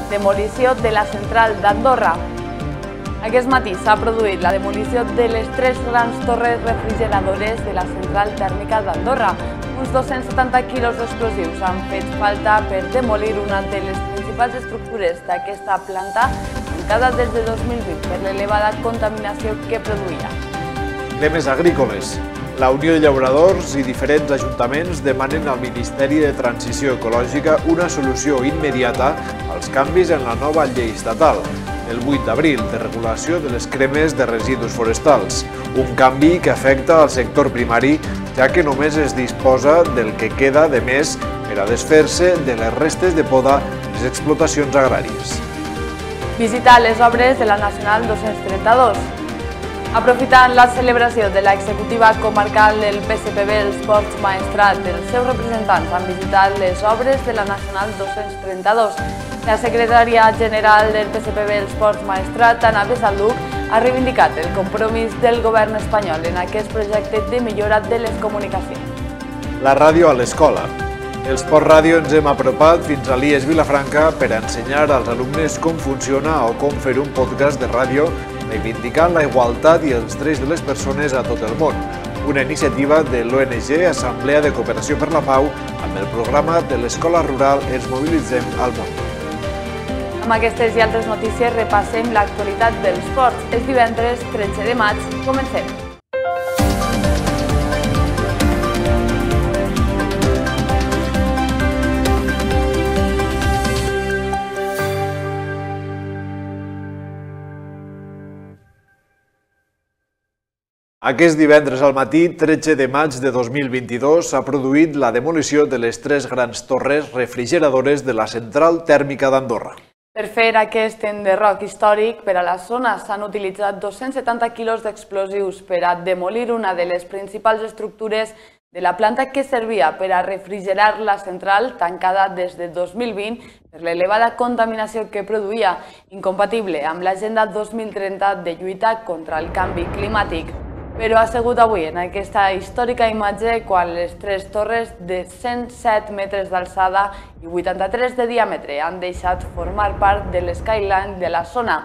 demolició de la central d'Andorra. Aquest matí s'ha produït la demolició de les 3 grans torres refrigeradores de la central tèrmica d'Andorra. Uns 270 quilos d'explosius han fet falta per demolir una de les principals estructures d'aquesta planta tancada des de 2020 per l'elevada contaminació que produïa. Temes agrícoles. La Unió de Llauradors i diferents ajuntaments demanen al Ministeri de Transició Ecològica una solució immediata als canvis en la nova llei estatal, el 8 d'abril, de regulació de les cremes de residus forestals, un canvi que afecta al sector primari, ja que només es disposa del que queda de més per a desfer-se de les restes de poda de les explotacions agràries. Visitar les obres de la Nacional 232. Aprofitant la celebració de l'executiva comarcal del PSPB Els Ports Maestrat, els seus representants han visitat les obres de la Nacional 232. La secretària general del PSPB Els Ports Maestrat, Ana Besalduc, ha reivindicat el compromís del govern espanyol en aquest projecte de millora de les comunicacions. La ràdio a l'escola. Els Ports Ràdio ens hem apropat fins a l'IES Vilafranca per ensenyar als alumnes com funciona o com fer un podcast de ràdio reivindicant la igualtat i els drets de les persones a tot el món. Una iniciativa de l'ONG Assemblea de Cooperació per la Pau amb el programa de l'Escola Rural Ens Mobilitzem al Món. Amb aquestes i altres notícies repassem l'actualitat dels ports. És divendres 13 de maig. Comencem. Aquest divendres al matí, 13 de maig de 2022, s'ha produït la demolició de les 3 grans torres refrigeradores de la central tèrmica d'Andorra. Per fer aquest enderroc històric per a la zona s'han utilitzat 270 quilos d'explosius per a demolir una de les principals estructures de la planta que servia per a refrigerar la central tancada des de 2020 per l'elevada contaminació que produïa, incompatible amb l'Agenda 2030 de lluita contra el canvi climàtic. Però ha sigut avui en aquesta històrica imatge quan les 3 torres de 107 metres d'alçada i 83 de diàmetre han deixat formar part de l'skyline de la zona.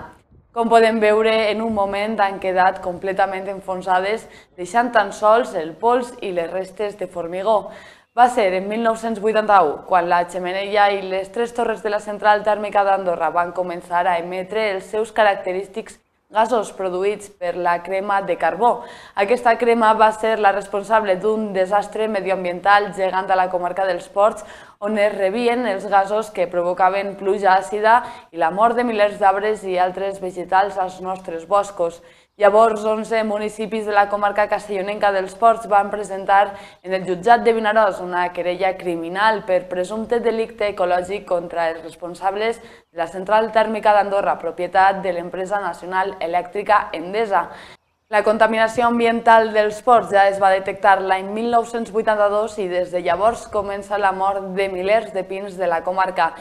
Com podem veure, en un moment han quedat completament enfonsades, deixant tan sols el pols i les restes de formigó. Va ser en 1981, quan la xemeneia i les 3 torres de la central tèrmica d'Andorra van començar a emetre els seus característics gasos produïts per la crema de carbó. Aquesta crema va ser la responsable d'un desastre medioambiental gegant a la comarca dels Ports, on es rebien els gasos que provocaven pluja àcida i la mort de milers d'arbres i altres vegetals als nostres boscos. Llavors, 11 municipis de la comarca castellonenca dels Ports van presentar en el jutjat de Vinaròs una querella criminal per presumpte delicte ecològic contra els responsables de la central tèrmica d'Andorra, propietat de l'empresa nacional elèctrica Endesa. La contaminació ambiental dels ports ja es va detectar l'any 1982 i des de llavors comença la mort de milers de pins de la comarca.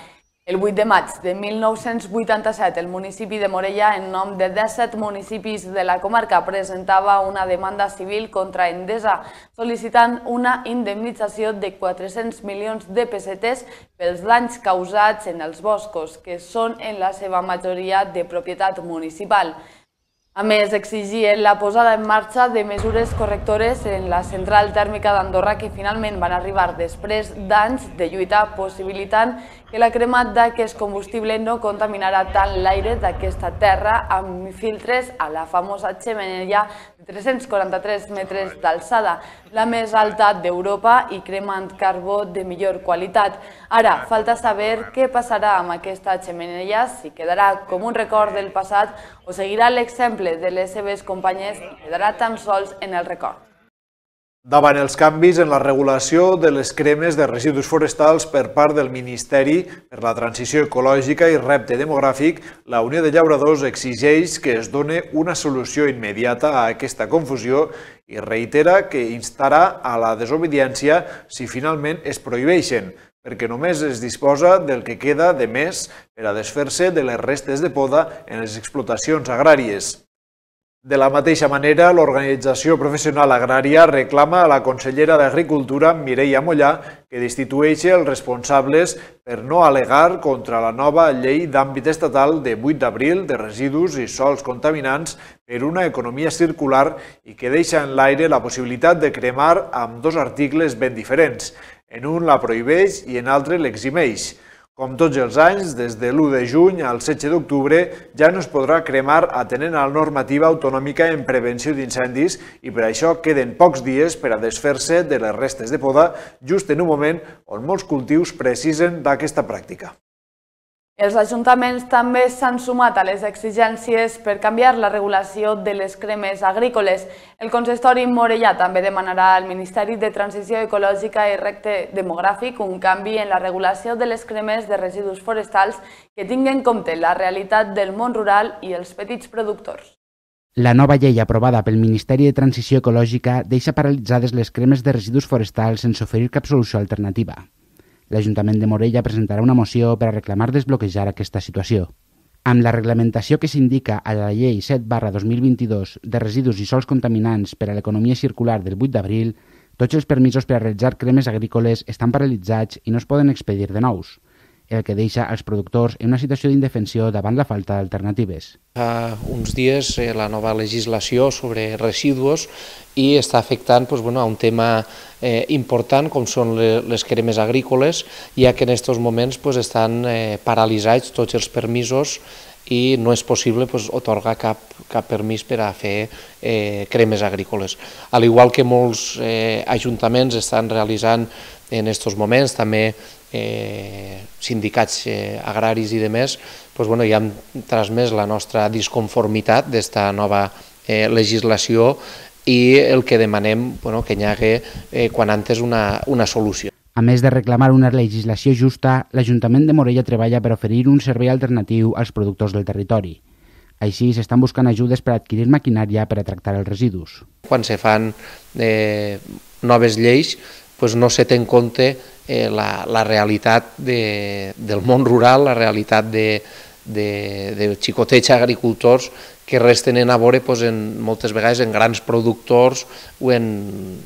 El 8 de maig de 1987, el municipi de Morella, en nom de 17 municipis de la comarca, presentava una demanda civil contra Endesa, sol·licitant una indemnització de 400 milions de pessetes pels danys causats en els boscos, que són en la seva majoria de propietat municipal. A més, exigien la posada en marxa de mesures correctores en la central tèrmica d'Andorra que finalment van arribar després d'anys de lluita, possibilitant que la crema d'aquest combustible no contaminarà tant l'aire d'aquesta terra amb filtres a la famosa xemeneia de 343 metres d'alçada, la més alta d'Europa i cremant carbó de millor qualitat. Ara, falta saber què passarà amb aquesta xemeneia, si quedarà com un record del passat o seguirà l'exemple de les seves companyes i quedarà tan sols en el record. Davant els canvis en la regulació de les cremes de residus forestals per part del Ministeri per la Transició Ecològica i Repte Demogràfic, la Unió de Llauradors exigeix que es doni una solució immediata a aquesta confusió i reitera que instarà a la desobediència si finalment es prohibeixen, perquè només es disposa del que queda de més per a desfer-se de les restes de poda en les explotacions agràries. De la mateixa manera, l'Organització Professional Agrària reclama a la consellera d'Agricultura, Mireia Mollà, que destitueixi els responsables per no al·legar contra la nova llei d'àmbit estatal de 8 d'abril de residus i sòls contaminants per una economia circular i que deixa en l'aire la possibilitat de cremar amb dos articles ben diferents. En un la prohibeix i en altre l'eximeix. Com tots els anys, des de l'1 de juny al 16 d'octubre ja no es podrà cremar atenent a la normativa autonòmica en prevenció d'incendis i per això queden pocs dies per a desfer-se de les restes de poda just en un moment on molts cultius precisen d'aquesta pràctica. Els ajuntaments també s'han sumat a les exigències per canviar la regulació de les cremes agrícoles. El consistori Morellà també demanarà al Ministeri de Transició Ecològica i Repte Demogràfic un canvi en la regulació de les cremes de residus forestals que tingui en compte la realitat del món rural i els petits productors. La nova llei aprovada pel Ministeri de Transició Ecològica deixa paralitzades les cremes de residus forestals sense oferir cap solució alternativa. L'Ajuntament de Morella presentarà una moció per a reclamar desbloquejar aquesta situació. Amb la reglamentació que s'indica a la Llei 7/2022 de residus i sòls contaminants per a l'economia circular del 8 d'abril, tots els permisos per a realitzar cremes agrícoles estan paralitzats i no es poden expedir de nous, el que deixa els productors en una situació d'indefensió davant la falta d'alternatives. Fa uns dies la nova legislació sobre residus i està afectant a un tema important com són les cremes agrícoles, ja que en aquests moments estan paralitzats tots els permisos i no és possible atorgar cap permís per a fer cremes agrícoles. Al igual que molts ajuntaments estan realitzant en aquests moments, també sindicats agraris i demés, ja hem transmès la nostra disconformitat d'esta nova legislació i el que demanem que hi hagi quan antes una solució. A més de reclamar una legislació justa, l'Ajuntament de Morella treballa per oferir un servei alternatiu als productors del territori. Així, s'estan buscant ajudes per adquirir maquinària per a tractar els residus. Quan se fan noves lleis, no se té en compte la realitat del món rural, la realitat de xicotets agricultors que res tenen a veure moltes vegades en grans productors o en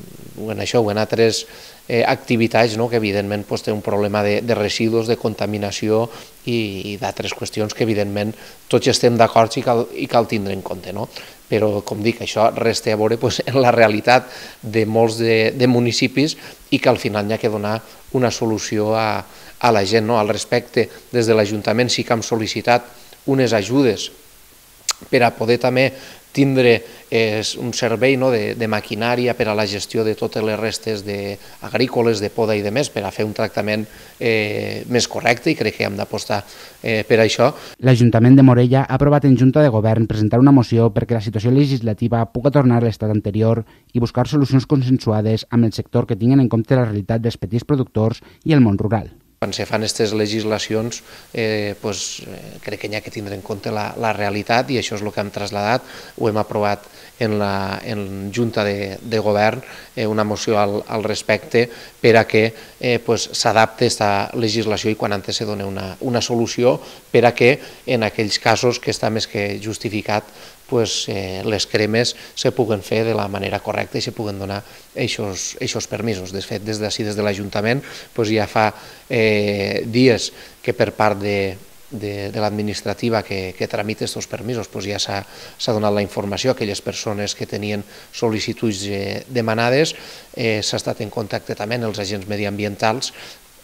altres activitats que evidentment té un problema de residus, de contaminació i d'altres qüestions que evidentment tots estem d'acord i cal tindre en compte. Però, com dic, això res té a veure en la realitat de molts de municipis i que al final hi ha que donar una solució a la gent. Al respecte, des de l'Ajuntament sí que hem sol·licitat unes ajudes per a poder també tindre un servei de maquinària per a la gestió de totes les restes agrícoles, de poda i de més, per a fer un tractament més correcte i crec que hem d'apostar per això. L'Ajuntament de Morella ha aprovat en Junta de Govern presentar una moció perquè la situació legislativa pugui tornar a l'estat anterior i buscar solucions consensuades amb el sector que tinguin en compte la realitat dels petits productors i el món rural. Quan se fan aquestes legislacions crec que hi ha que tindre en compte la realitat i això és el que hem traslladat, ho hem aprovat en Junta de Govern, una moció al respecte per a que s'adapte aquesta legislació i quan antes se doni una solució per a que en aquells casos que està més que justificat les cremes se puguen fer de la manera correcta i se puguen donar aquests permisos. De fet, des de l'Ajuntament ja fa dies que per part de l'administrativa que tramita aquests permisos ja s'ha donat la informació a aquelles persones que tenien sol·licituds demanades. S'ha estat en contacte també amb els agents mediambientals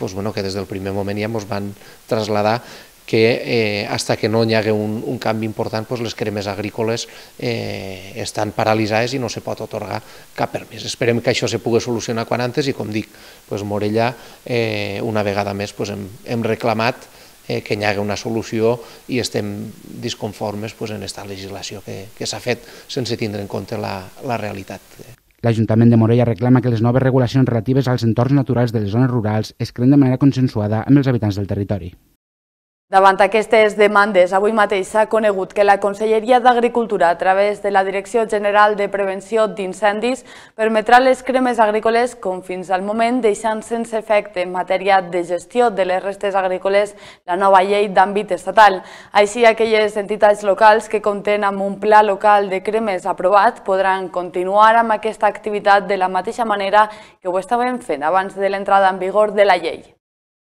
que des del primer moment ja ens van traslladar que fins que no hi hagi un canvi important les cremes agrícoles estan paralitzades i no se pot atorgar cap permís. Esperem que això se pugui solucionar quan antes i, com dic, Morella una vegada més hem reclamat que hi hagi una solució i estem disconformes en aquesta legislació que s'ha fet sense tindre en compte la realitat. L'Ajuntament de Morella reclama que les noves regulacions relatives als entorns naturals de les zones rurals es creen de manera consensuada amb els habitants del territori. Davant aquestes demandes, avui mateix s'ha conegut que la Conselleria d'Agricultura, a través de la Direcció General de Prevenció d'Incendis, permetrà les cremes agrícoles com fins al moment, deixant sense efecte en matèria de gestió de les restes agrícoles la nova llei d'àmbit estatal. Així, aquelles entitats locals que compten amb un pla local de cremes aprovat podran continuar amb aquesta activitat de la mateixa manera que ho estaven fent abans de l'entrada en vigor de la llei.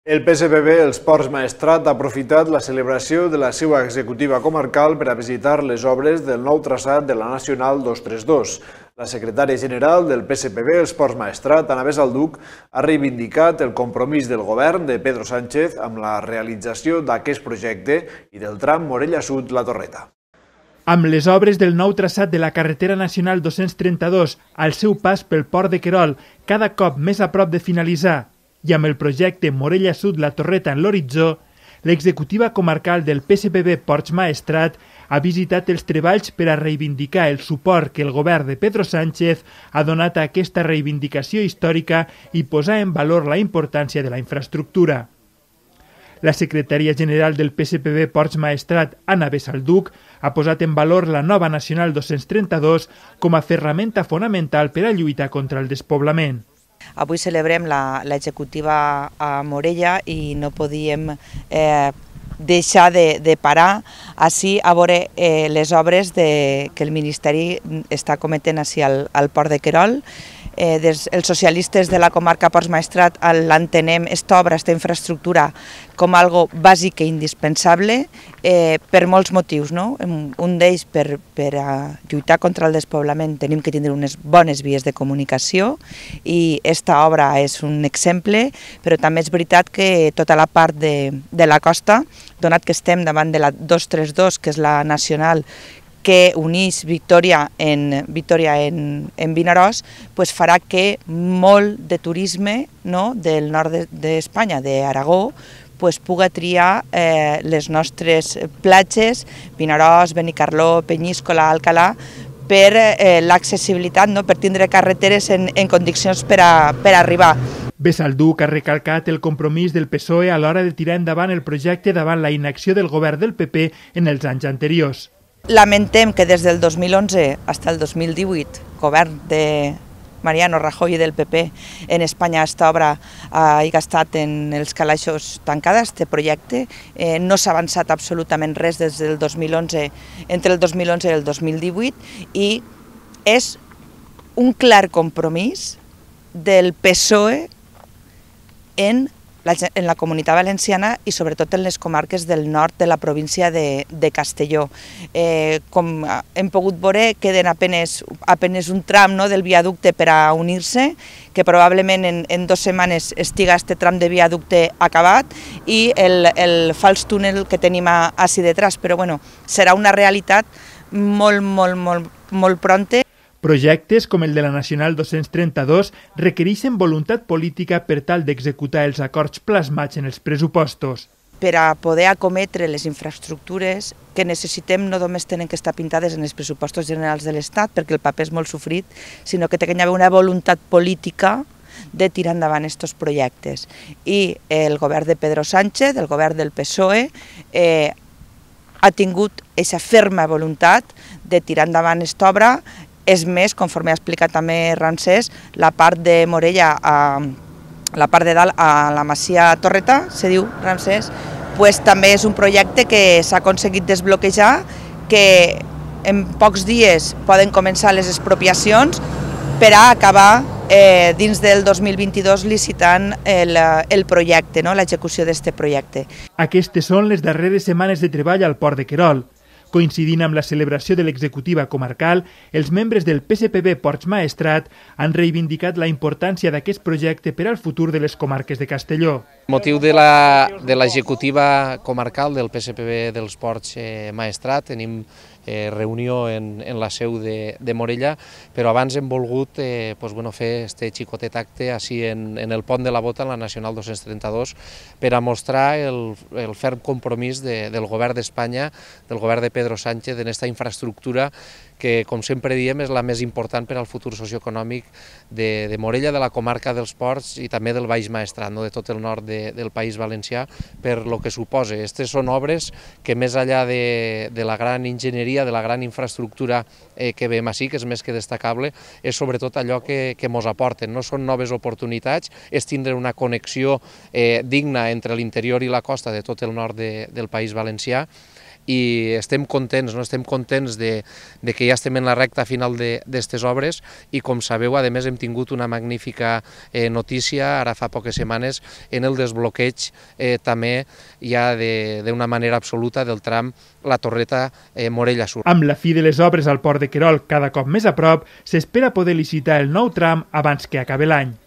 El PSPB Els Ports Maestrat ha aprofitat la celebració de la seva executiva comarcal per a visitar les obres del nou traçat de la Nacional 232. La secretària general del PSPB Els Ports Maestrat, Ana Besalduc, ha reivindicat el compromís del govern de Pedro Sánchez amb la realització d'aquest projecte i del tram Morella Sud-La Torreta. Amb les obres del nou traçat de la carretera nacional 232 al seu pas pel port de Querol, cada cop més a prop de finalitzar, i amb el projecte Morella Sud-La Torreta en l'horitzó, l'executiva comarcal del PSPB Ports Maestrat ha visitat els treballs per a reivindicar el suport que el govern de Pedro Sánchez ha donat a aquesta reivindicació històrica i posar en valor la importància de la infraestructura. La secretària general del PSPB Ports Maestrat, Ana Besalduc, ha posat en valor la nova Nacional 232 com a ferramenta fonamental per a lluitar contra el despoblament. Avui celebrem l'executiva a Morella i no podíem deixar de parar així a veure les obres que el Ministeri està cometent així al port de Querol. Els socialistes de la comarca Ports Maestrat l'entenem esta obra, esta infraestructura, com algo bàsic i indispensable per molts motius. Un d'ells, per lluitar contra el despoblament, tenim que tindre unes bones vies de comunicació i esta obra és un exemple, però també és veritat que tota la part de la costa, donat que estem davant de la 232, que és la nacional, que uneix Vitòria en Vinaròs, farà que molt de turisme del nord d'Espanya, d'Aragó, pugui triar les nostres platges, Vinaròs, Benicarló, Penyíscola, Alcalà, per l'accessibilitat, per tindre carreteres en condicions per arribar. Besalduc ha recalcat el compromís del PSOE a l'hora de tirar endavant el projecte davant la inacció del govern del PP en els anys anteriors. Lamentem que des del 2011 fins al 2018, govern de Mariano Rajoy i del PP en Espanya, aquesta obra ha estat en els calaixos tancada, este projecte. No s'ha avançat absolutament res des del 2011, entre el 2011 i el 2018, i és un clar compromís del PSOE en la Comunitat Valenciana i sobretot en les comarques del nord de la província de Castelló. Com hem pogut veure, queden apenes un tram del viaducte per a unir-se, que probablement en 2 setmanes estiga aquest tram de viaducte acabat i el fals túnel que tenim així detrás, però serà una realitat molt pronta. Projectes com el de la Nacional 232 requereixen voluntat política per tal d'executar els acords plasmats en els pressupostos. Per a poder acometre les infraestructures que necessitem no només tenen que estar pintades en els pressupostos generals de l'Estat, perquè el paper és molt sofrit, sinó que té que haver una voluntat política de tirar endavant aquests projectes. I el govern de Pedro Sánchez, el govern del PSOE, ha tingut aquesta ferma voluntat de tirar endavant aquesta obra. És més, conforme ha explicat també Ramsès, la part de Morella, la part de dalt a la Masia Torreta, se diu Ramsès, també és un projecte que s'ha aconseguit desbloquejar, que en pocs dies poden començar les expropiacions per a acabar dins del 2022 licitant el projecte, l'execució d'aquest projecte. Aquestes són les darreres setmanes de treball al port de Querol. Coincidint amb la celebració de l'executiva comarcal, els membres del PSPB Ports Maestrat han reivindicat la importància d'aquest projecte per al futur de les comarques de Castelló. El motiu de l'executiva comarcal del PSPB dels Ports Maestrat, tenim reunió en la seu de Morella, però abans hem volgut fer este xicotet acte així en el pont de la Bota, en la Nacional 232, per a mostrar el ferm compromís del govern d'Espanya, del govern de Pedro Sánchez en esta infraestructura que, com sempre diem, és la més important per al futur socioeconòmic de Morella, de la comarca dels Ports i també del Baix Maestrat, de tot el nord del País Valencià, per lo que suposa. Aquestes són obres que, més enllà de la gran enginyeria, de la gran infraestructura que veiem així, que és més que destacable, és sobretot allò que ens aporten. No són noves oportunitats, és tindre una connexió digna entre l'interior i la costa de tot el nord del País Valencià, i estem contents de que ja estem en la recta final d'aquestes obres i, com sabeu, a més hem tingut una magnífica notícia ara fa poques setmanes en el desbloqueig també ja d'una manera absoluta del tram la Torreta Morella Sur. Amb la fi de les obres al port de Querol cada cop més a prop, s'espera poder licitar el nou tram abans que acabi l'any.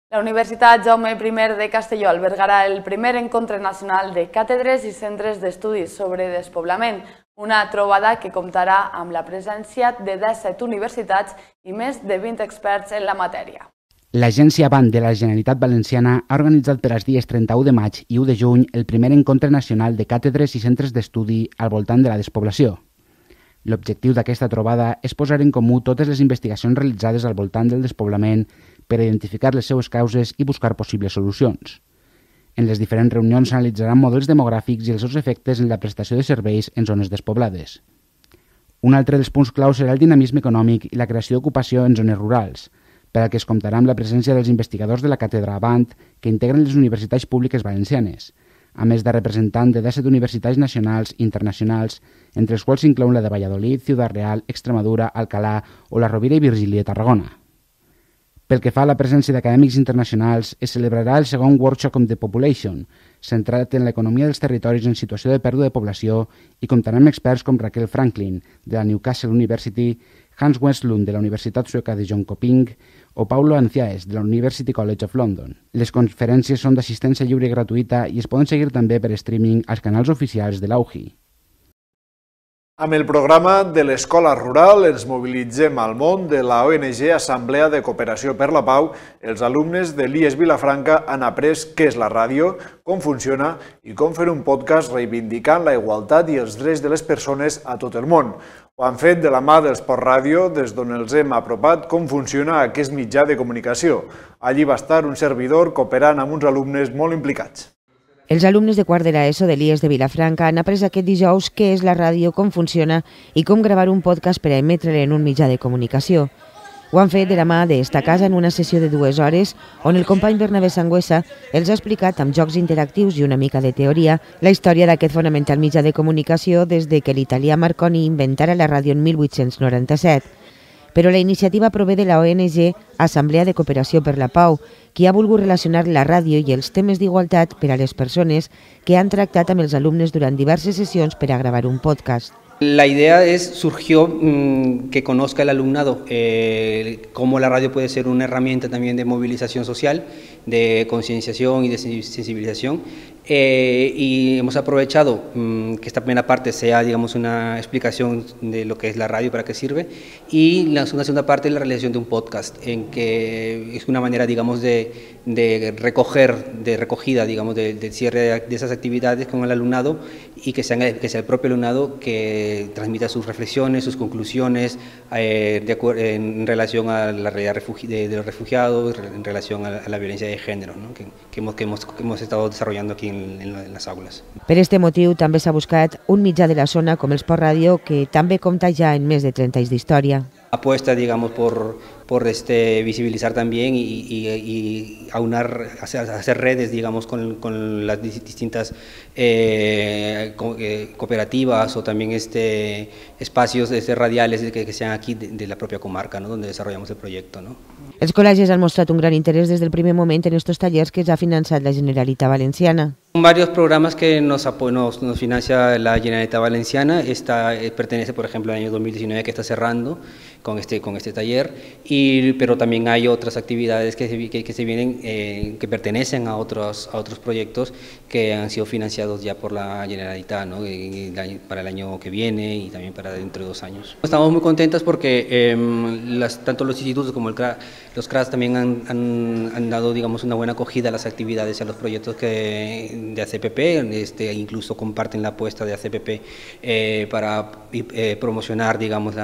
La Universitat Jaume I de Castelló albergarà el primer encontre nacional de càtedres i centres d'estudis sobre despoblament, una trobada que comptarà amb la presència de 17 universitats i més de 20 experts en la matèria. L'Agència Band de la Generalitat Valenciana ha organitzat per als dies 31 de maig i 1 de juny el primer encontre nacional de càtedres i centres d'estudi al voltant de la despoblació. L'objectiu d'aquesta trobada és posar en comú totes les investigacions realitzades al voltant del despoblament per identificar les seues causes i buscar possibles solucions. En les diferents reunions s'analitzaran models demogràfics i els seus efectes en la prestació de serveis en zones despoblades. Un altre dels punts clau serà el dinamisme econòmic i la creació d'ocupació en zones rurals, per al que es comptarà amb la presència dels investigadors de la càtedra Band que integren les universitats públiques valencianes, a més de representants de 17 universitats nacionals i internacionals, entre els quals s'inclouen la de Valladolid, Ciudad Real, Extremadura, Alcalá o la Rovira i Virgili de Tarragona. Pel que fa a la presència d'acadèmics internacionals, es celebrarà el segon Workshop on the Population, centrat en l'economia dels territoris en situació de pèrdua de població i comptarà amb experts com Raquel Franklin, de la Newcastle University, Hans Westlund, de la Universitat Sueca de Jönköping, o Paulo Anciaes, de la University College of London. Les conferències són d'assistència lliure i gratuïta i es poden seguir també per streaming als canals oficials de l'AUGI. Amb el programa de l'Escola Rural ens mobilitzem al món de la ONG Assemblea de Cooperació per la Pau. Els alumnes de l'IES Vilafranca han après què és la ràdio, com funciona i com fer un podcast reivindicant la igualtat i els drets de les persones a tot el món. Ho han fet de la mà del Sport Ràdio, des d'on els hem apropat com funciona aquest mitjà de comunicació. Allí va estar un servidor cooperant amb uns alumnes molt implicats. Els alumnes de quart de l'ESO de l'IES de Vilafranca han après aquest dijous què és la ràdio, com funciona i com gravar un podcast per a emetre-la en un mitjà de comunicació. Ho han fet de la mà d'Esta Casa en una sessió de 2 hores on el company Bernabé Sangüesa els ha explicat amb jocs interactius i una mica de teoria la història d'aquest fonamental mitjà de comunicació des de que l'italià Marconi inventara la ràdio en 1897. Però la iniciativa prové de la ONG Assemblea de Cooperació per la Pau, qui ha volgut relacionar la ràdio i els temes d'igualtat per a les persones que han tractat amb els alumnes durant diverses sessions per a gravar un podcast. La idea surgió que conozca el alumnado cómo la radio puede ser una herramienta también de movilización social, de concienciación y de sensibilización. Y hemos aprovechado que esta primera parte sea, digamos, una explicación de lo que es la radio, para qué sirve, y una segunda parte es la realización de un podcast, en que es una manera, digamos, de recogida, digamos, del cierre de esas actividades con el alumnado, y que sea el propio alumnado que transmita sus reflexiones, sus conclusiones en relación a la realidad de los refugiados, en relación a la violencia de género, ¿no? que hemos estado desarrollando aquí en les aules. Per este motiu també s'ha buscat un mitjà de la zona com el Sport Ràdio, que també compta ja en més de 30 anys d'història. Apuesta, digamos, por visibilizar también y aunar, hacer redes, digamos, con las distintas cooperativas o también espacios radiales que sean aquí de la propia comarca, ¿no? Donde desarrollamos el proyecto, ¿no? Els col·legis han mostrat un gran interès des del primer moment en estos tallers que ja ha finançat la Generalitat Valenciana. Son varios programas que nos financia la Generalitat Valenciana. Esta pertenece, por ejemplo, al año 2019, que está cerrando con este taller, y pero también hay otras actividades que se vienen, que pertenecen a otros proyectos que han sido financiados ya por la Generalitat, ¿no? Para el año que viene y también para dentro de 2 años. Estamos muy contentos porque tanto los institutos como los CRAS también han dado, digamos, una buena acogida a las actividades y a los proyectos de ACPP, incluso comparten la apuesta de ACPP para promocionar, digamos,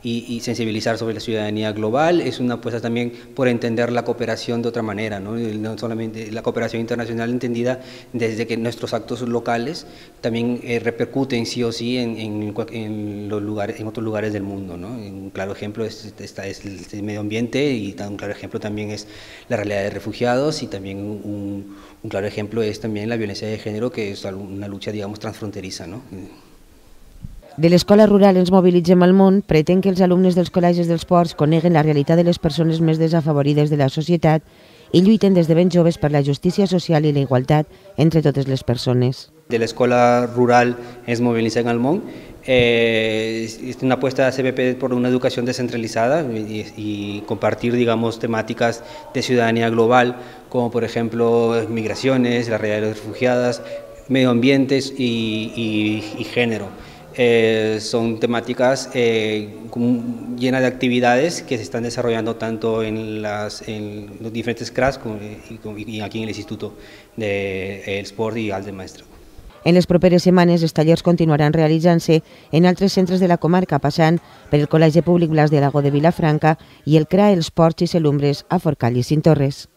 y sensibilizar sobre la ciudadanía global. Es una apuesta también por entender la cooperación de otra manera, ¿no? No solamente la cooperación internacional entendida desde que nuestros actos locales también repercuten sí o sí en otros lugares del mundo, ¿no? Un claro ejemplo es el medio ambiente, y un claro ejemplo también es la realidad de refugiados, y también un claro ejemplo es también la violencia de género, que es una lucha, digamos, transfronteriza, ¿no? De l'Escola Rural Ens Mobilitzem al Món pretén que els alumnes dels col·legis dels ports coneguen la realitat de les persones més desafavorides de la societat i lluiten des de ben joves per la justícia social i la igualtat entre totes les persones. De la Escuela Rural Ens Mobilitzem al Món es una apuesta de ACPP por una educación descentralizada y compartir, digamos, temáticas de ciudadanía global, como por ejemplo migraciones, la realidad de las refugiadas, medio ambientes y género. Son temáticas llenas de actividades que se están desarrollando tanto en los diferentes CRAS y aquí en el Instituto del Sport i Alt de Maestrat. En les properes setmanes els tallers continuaran realitzant-se en altres centres de la comarca, passant per el Col·legi Públic Blas de Lago de Vilafranca i el CRA Els Ports i Selumbres a Forcall i Cinctorres.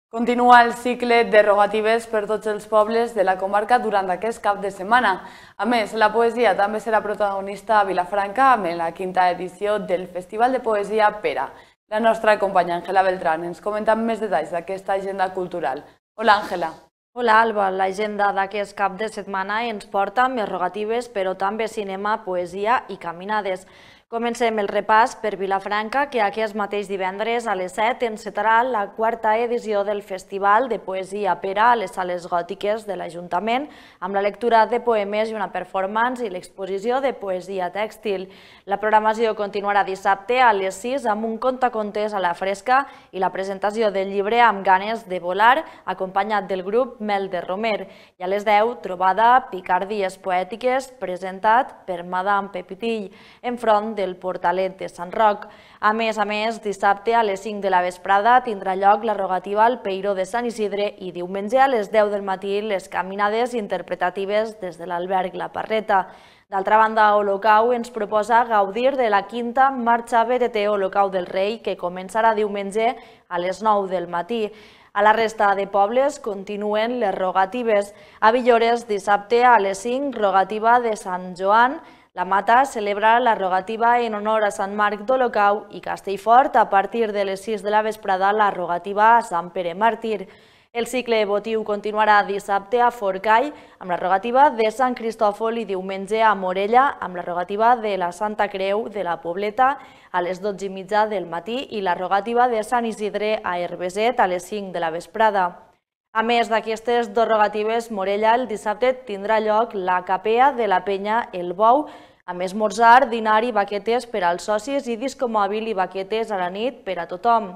Continua el cicle de rogatives per tots els pobles de la comarca durant aquest cap de setmana. A més, la poesia també serà protagonista a Vilafranca amb la 5ª edició del Festival de Poesia Pera. La nostra companya Àngela Beltrán ens comenta més detalls d'aquesta agenda cultural. Hola, Àngela. Hola, Alba. L'agenda d'aquest cap de setmana ens porta més rogatives, però també cinema, poesia i caminades. Comencem el repàs per Vilafranca, que aquest mateix divendres a les 7 encetarà la 4ª edició del Festival de Poesia Pera a les sales gòtiques de l'Ajuntament, amb la lectura de poemes i una performance i l'exposició de poesia tèxtil. La programació continuarà dissabte a les 6 amb un contacontes a la fresca i la presentació del llibre Amb ganes de volar, acompanyat del grup Mel de Romer. I a les 10, trobada Picardies poètiques, presentat per Madame Pepitill, enfront del Portalet de Sant Roc. A més, dissabte a les 5 de la vesprada tindrà lloc la rogativa al Peiró de Sant Isidre i diumenge a les 10 del matí les caminades interpretatives des de l'alberg La Parreta. D'altra banda, Olocau ens proposa gaudir de la 5ª marxa BTT Olocau del Rei, que començarà diumenge a les 9 del matí. A la resta de pobles continuen les rogatives. A Villores, dissabte a les 5, rogativa de Sant Joan. La Mata celebra la rogativa en honor a Sant Marc d'Olocau i Castellfort a partir de les 6 de la vesprada la rogativa a Sant Pere Màrtir. El cicle votiu continuarà dissabte a Forcall amb la rogativa de Sant Cristòfol i diumenge a Morella amb la rogativa de la Santa Creu de la Pobleta a les 12:30 del matí i la rogativa de Sant Isidre a Herbeset a les 5 de la vesprada. A més d'aquestes dues rogatives, Morella el dissabte tindrà lloc la capea de la penya El Bou, amb esmorzar, dinar i baquetes per als socis i disco mòbil i baquetes a la nit per a tothom.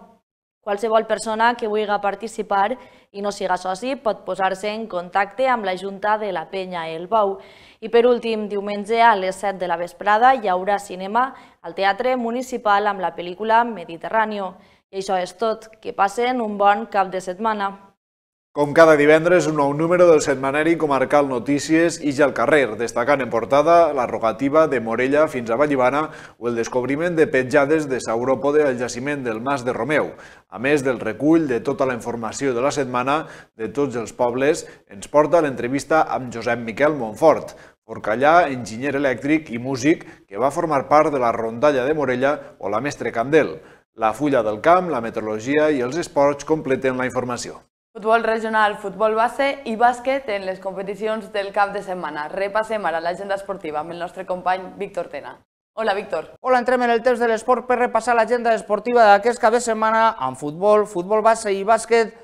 Qualsevol persona que vulgui participar i no siga soci pot posar-se en contacte amb la Junta de la penya El Bou. I per últim, diumenge a les 7 de la vesprada hi haurà cinema al Teatre Municipal amb la pel·lícula Mediterráneo. I això és tot. Que passen un bon cap de setmana. Com cada divendres, un nou número del setmanari comarcal Notícies Ix al carrer, destacant en portada la rogativa de Morella fins a Vallibana o el descobriment de petjades de sauròpode al jaciment del Mas de Romeu. A més del recull de tota la informació de la setmana de tots els pobles, ens porta l'entrevista amb Josep Miquel Montfort, forcallà, enginyer elèctric i músic que va formar part de la rondalla de Morella o la Mestre Candel. La fulla del camp, la meteorologia i els esports completen la informació. Futbol regional, futbol base i bàsquet en les competicions del cap de setmana. Repassem ara l'agenda esportiva amb el nostre company Víctor Tena. Hola, Víctor. Hola, entrem en el temps de l'esport per repassar l'agenda esportiva d'aquest cap de setmana amb futbol, futbol base i bàsquet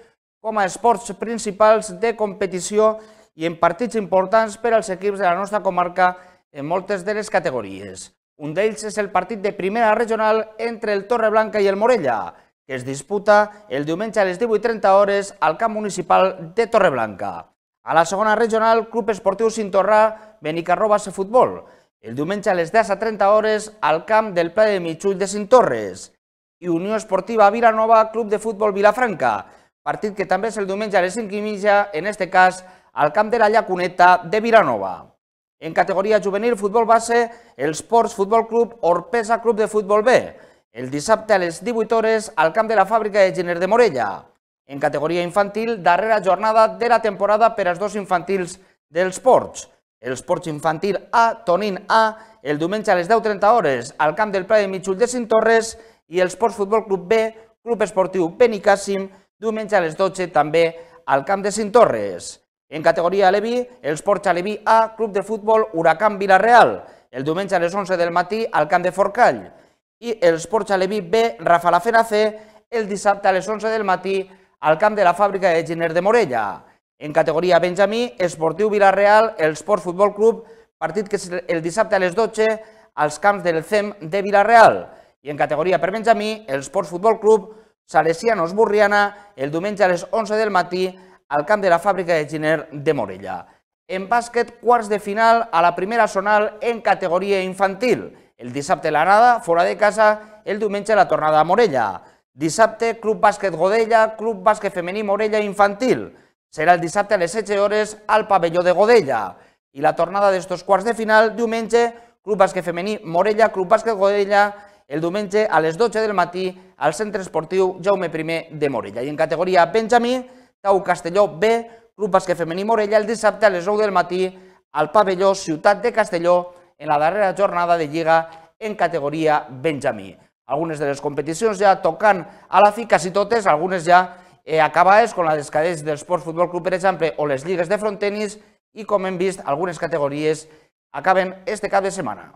com a esports principals de competició i en partits importants per als equips de la nostra comarca en moltes de les categories. Un d'ells és el partit de primera regional entre el Torreblanca i el Morella, que es disputa el diumenge a les 18:30 al camp municipal de Torreblanca. A la segona regional, Club Esportiu Cintorrà, Benicarró Base Futbol, el diumenge a les 10:30 al camp del Pla de Mitjull de Cintorres. I Unió Esportiva Vilanova, Club de Futbol Vilafranca, partit que també és el diumenge a les 5:30, en este cas al camp de la Llacuneta de Vilanova. En categoria juvenil futbol base, el Sports Futbol Club Orpesa Club de Futbol B, el dissabte a les 18 al camp de la fàbrica de Giner de Morella. En categoria infantil, darrera jornada de la temporada per als dos infantils dels Ports. El Sports Infantil A, Tonín A, el diumenge a les 10:30 al camp del Pla de Mitjull de Cintorres i el Sports Futbol Club B, Club Esportiu Benicàssim, diumenge a les 12 també al camp de Cintorres. En categoria Aleví, el Sports Aleví A, Club de Futbol Huracán Vila-real, el diumenge a les 11 del matí al camp de Forcall. I el Sports Aleví B, Rafalafena C, el dissabte a les 11 del matí al camp de la fàbrica de Giner de Morella. En categoria Benjamí, Esportiu Vila-real, el Sports Futbol Club, partit que és el dissabte a les 12 als camps del CEM de Vila-real. I en categoria per Benjamí, el Sports Futbol Club, Salesianos Burriana, el diumenge a les 11 del matí al camp de la fàbrica de Giner de Morella. En bàsquet, quarts de final a la primera zonal en categoria infantil. El dissabte l'anada, fora de casa, el diumenge la tornada a Morella. Dissabte, Club Bàsquet Godella, Club Bàsquet Femení Morella Infantil. Serà el dissabte a les 16 al pavelló de Godella. I la tornada d'estos quarts de final, diumenge, Club Bàsquet Femení Morella, Club Bàsquet Godella, el diumenge a les 12 del matí al Centre Esportiu Jaume I de Morella. I en categoria Benjamí, Tau Castelló B, Club Bàsquet Femení Morella, el dissabte a les 9 del matí al pavelló Ciutat de Castelló en la darrera jornada de Lliga en categoria Benjamí. Algunes de les competicions ja tocant a la fi, quasi totes, algunes ja acabades, com la dels cadets del Sports Futbol Club, per exemple, o les lligues de frontenis, i com hem vist, algunes categories acaben este cap de setmana.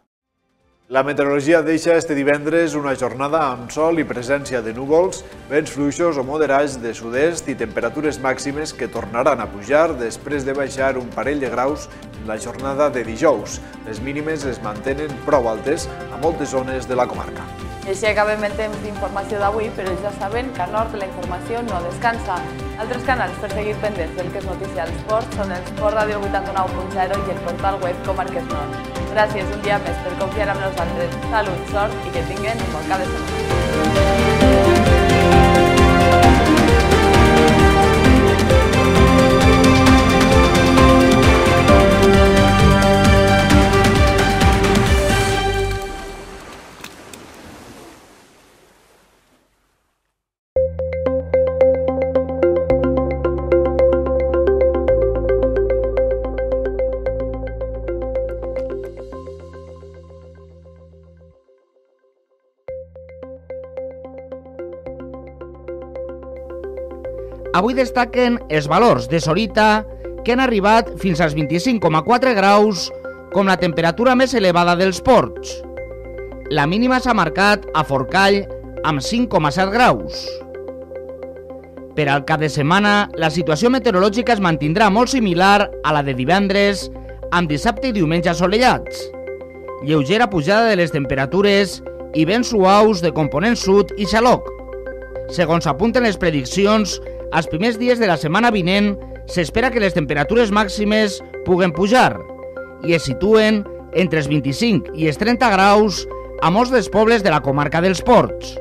La meteorologia deixa este divendres una jornada amb sol i presència de núvols, vents fluixos o moderats de sud-est i temperatures màximes que tornaran a pujar després de baixar un parell de graus en la jornada de dijous. Les mínimes es mantenen prou altes a moltes zones de la comarca. I així acabem el temps d'informació d'avui, però ja saben que al nord la informació no descansa. Altres canals per seguir pendents del que és notícia als ports són el Sport Ràdio 89.0 i el portal web Comarques Nord. Gràcies un dia més per confiar en nosaltres. Salut, sort i que tinguin un bon cap de setmana. Avui destaquen els valors de Sorita, que han arribat fins als 25,4 graus, com la temperatura més elevada dels ports. La mínima s'ha marcat a Forcall amb 5,7 graus. Per al cap de setmana, la situació meteorològica es mantindrà molt similar a la de divendres, amb dissabte i diumenge assolellats. Lleugera pujada de les temperatures i vents suaus de component sud i xaloc. Segons apunten les prediccions, als primers dies de la setmana vinent s'espera que les temperatures màximes puguen pujar i es situen entre els 25 i els 30 graus a molts dels pobles de la comarca dels Ports.